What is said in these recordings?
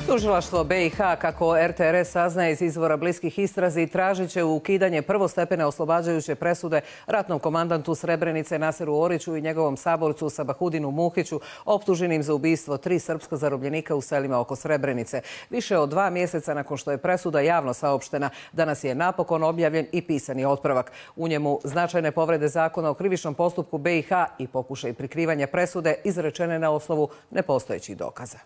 Tužilaštvo BiH, kako RTRS saznaje iz izvora bliskih istrazi, tražit će ukidanje prvostepene oslobađajuće presude ratnom komandantu Srebrenice Naseru Oriću i njegovom saborcu Sabahudinu Muhiću, optuženim za ubistvo 3 srpska zarobljenika u selima oko Srebrenice. Više od 2 mjeseca nakon što je presuda javno saopštena, danas je napokon objavljen i pisani otpravak. U njemu značajne povrede zakona o krivičnom postupku BiH i pokušaj prikrivanja presude izrečene na osnovu nepostojećih dokaza.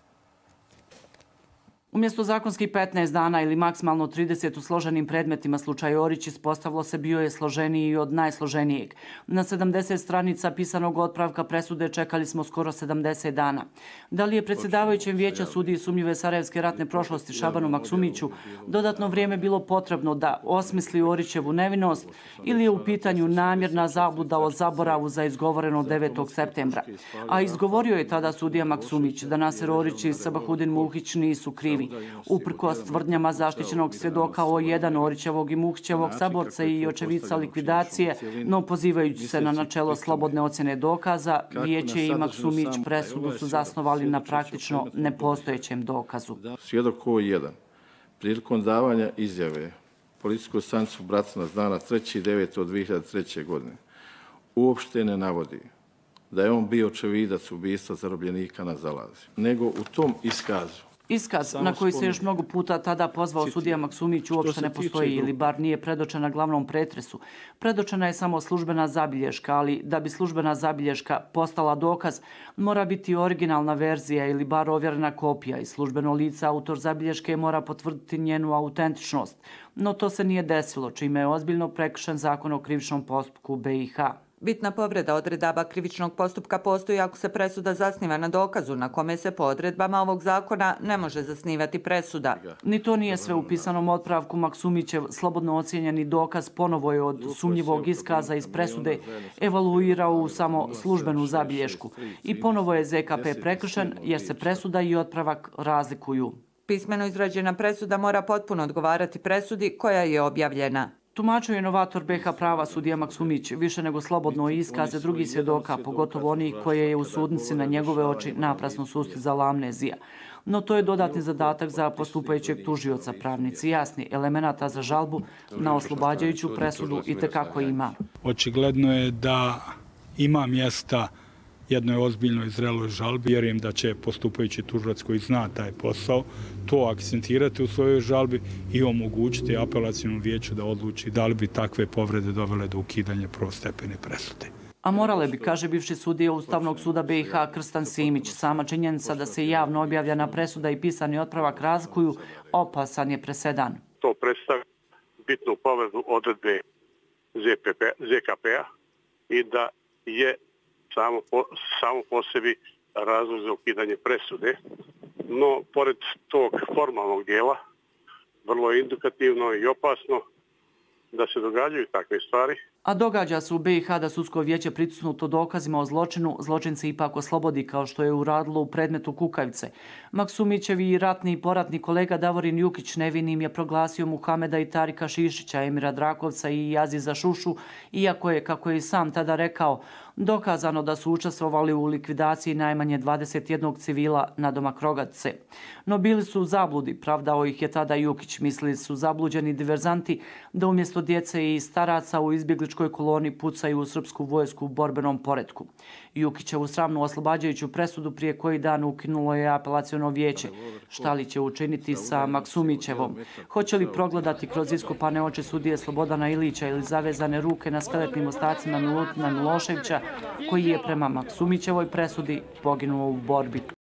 Umjesto zakonskih 15 dana ili maksimalno 30 u složenim predmetima, slučaj Orić ispostavilo se bio je složeniji od najsloženijeg. Na 70 stranica pisanog otpravka presude čekali smo skoro 70 dana. Da li je predsjedavajućem vijeća sudiji sumnjive sarajevske ratne prošlosti Šabanu Maksumiću dodatno vrijeme bilo potrebno da osmisli Orićevu nevinost ili je u pitanju namjerna zabluda o zaboravu za izgovoreno 9. septembra? A izgovorio je tada sudija Maksumić da Naser Orić i Sabahudin Muhić nisu krivi. Uprkos tvrdnjama zaštićenog svjedoka O1 Orićevog i Muhićevog saborca i očevica likvidacije, no pozivajući se na načelo slobodne ocjene dokaza, vijeće i Maksumić presudu su zasnovali na praktično nepostojećem dokazu. Svjedok O1 prilikom davanja izjave policijskoj stanici Bratunac dana 3.9.2003. godine uopšte ne navodi da je on bio očevidac ubistva zarobljenika na Zalazi, nego u tom Iskaz na koji se još mnogo puta tada pozvao sudija Maksumić uopšte ne postoji ili bar nije predočena glavnom pretresu. Predočena je samo službena zabilješka, ali da bi službena zabilješka postala dokaz, mora biti originalna verzija ili bar ovjerena kopija i službeno lice autor zabilješke mora potvrditi njenu autentičnost. No to se nije desilo, čime je ozbiljno prekršen zakon o krivičnom postupku BiH. Bitna povreda odredaba krivičnog postupka postoji ako se presuda zasniva na dokazu na kome se po odredbama ovog zakona ne može zasnivati presuda. Ni to nije sve u pisanom otpravku. Maksumićev slobodno ocijenjeni dokaz ponovo je od sumnjivog iskaza iz presude evaluirao u samo službenu zabilješku. I ponovo je ZKP prekršen jer se presuda i otpravak razlikuju. Pismeno izrađena presuda mora potpuno odgovarati presudi koja je objavljena. Tumačio je novator BiH prava sudija Maksumić više nego slobodno iskaze drugih svjedoka, pogotovo onih koje je u sudnici na njegove oči naprasno sustizala amnezija. No to je dodatni zadatak za postupajućeg tužioca. Pravnici jasni elemenata za žalbu na oslobađajuću presudu itekako ima. Očigledno je da ima mjesta jednoj ozbiljnoj zreloj žalbi. Vjerujem da će postupajući tužilac koji zna taj posao to akcentirati u svojoj žalbi i omogućiti apelacijnom vijeću da odluči da li bi takve povrede dovele do ukidanja prvostepene presude. A morale bi, kaže bivši sudija Ustavnog suda BiH Krstan Simić. Sama činjenica da se javno objavljena presuda i pisani otpravak razlikuju opasan je presedan. To predstavlja bitnu povredu odredbe ZKP-a i da je samo po sebi razlog za ukidanje presude. No, pored tog formalnog dijela, vrlo je indikativno i opasno da se događaju takve stvari. A događa se u BiH da sudsko vijeće pritisnuto dokazima o zločinu, zločince ipak oslobodi kao što je uradilo u predmetu Kukavice. Maksumićevi i ratni i poratni kolega Davorin Jukić nevinim je proglasio Muhameda i Tarika Šišića, Emira Drakovca i Aziza Šušu, iako je, kako je i sam tada rekao, dokazano da su učestvovali u likvidaciji najmanje 21 civila nadomak Rogatice. No bili su u zabludi, pravdao ih je tada Jukić. Mislili su zabluđeni diverzanti da umjesto djece i staraca u izbjegličkoj koloni pucaju u srpsku vojsku u borbenom poretku. Jukićevu sramnu oslobađajuću presudu prije koji dan ukinulo je apelaciono vijeće. Šta li će učiniti sa Maksumićevom? Hoće li progledati kroz iskopane oči sudije Slobodana Ilića ili zavezane ruke na skeletnim ostacima Milutina Miloševića, koji je prema Maksumićevoj presudi poginuo u borbi?